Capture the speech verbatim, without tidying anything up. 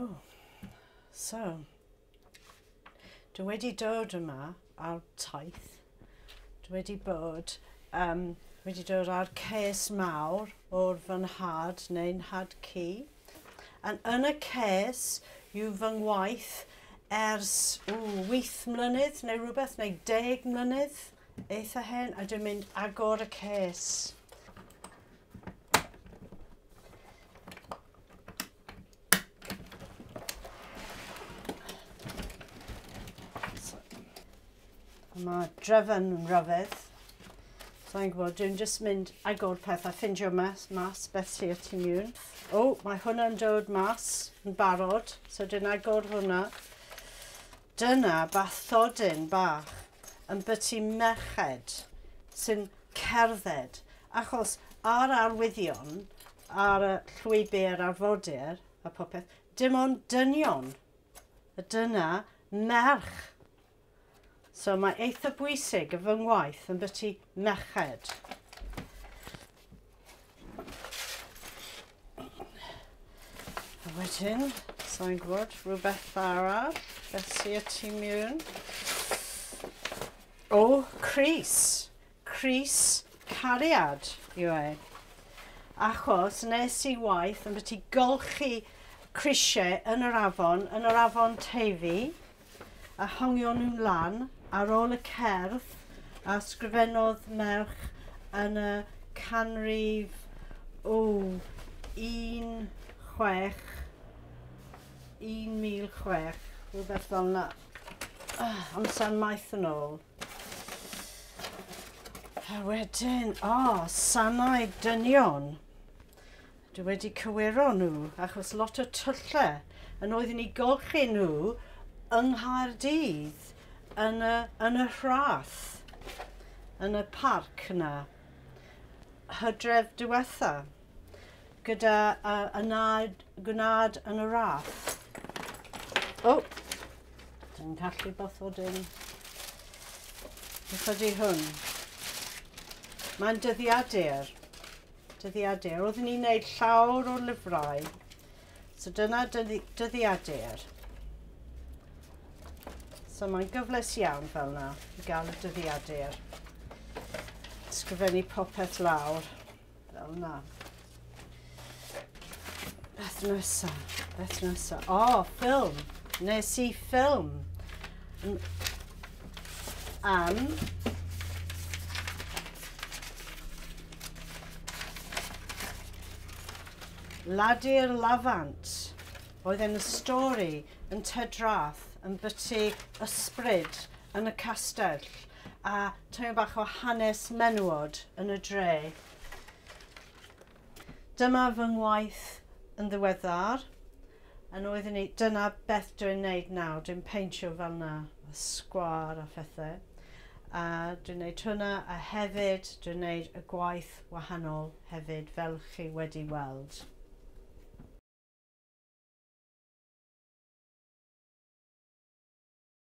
Oh, so, dwi wedi dod yma ar taith. Dwi wedi bod, um, wedi dod ar ces mawr o'r fy nhad neu nhad cu. And yn y ces yw fy ngwaith ers ww, wyth mlynedd neu rhywbeth, neu deg mlynedd, eitha hen, a dwi'n mynd agor y ces. So, mae drefn yn ryfedd. Sa'n gwybod, dwi'n just mynd agor peth a ffindio mas, mas beth sydd tu mewn. O, mae hwnna'n dod mas yn barod, so dwi'n agor hwnna. Dyna bathodyn bach yn byty merched sy'n cerdded, achos ar arwyddion, ar y llwybr arfordir a popeth, dim ond dynion. A dyna merch. So mae eitha bwysig y fy ngwaith yn byty merched. A wedyn, sa'n gwybod, rhywbeth arall, beth sydd y tu mewn. O, crys. Crys cariad yw e. Achos nes i waith yn byty golchi crisiau yn yr afon, yn yr afon Teifi, a hongio nhw lan ar ôl y cerdd a sgrifennodd merch yn y canrif o un chwech, un mil chwech, rhywbeth fel yna. Oh, amser maith yn ôl. A wedyn, o, oh, sanau dynion. Dwi wedi cywiro nhw, achos lot o tyllau, yn oeddwn i golchi nhw yng Nghaerdydd, yn y, yn y Rhath, yn y parc yna, hydref diwetha, gyda uh, y nad, gwnaed yn y Rhath. O, oh, dwi'n gallu bathodyn. Beth ydy hwn? Mae'n dyddiadur. Dyddiadur. Oeddwn ni'n gwneud llawr o lyfrau. So dyna dyddi, dyddiadur. So mae'n gyfleus iawn fel yna i gael y dyddiadur. Sgrifennu popeth lawr fel yna. Beth nesa? Beth nesa? O, oh, ffilm. Nes i ffilm. Am Ladi'r Lafant. Oedd e'n y stori yn Tydrath yn byty ysbryd yn y castell a tymed bach o hanes menywod yn y dre. Dyma fy ngwaith yn ddiweddar, yn oeddwn i, dyna beth dwi'n neud nawr, dwi'n peintio fel yna, y sgwâr a phethau. A dwi'n neud hwnna, a hefyd dwi'n neud y gwaith wahanol hefyd, fel chi wedi weld.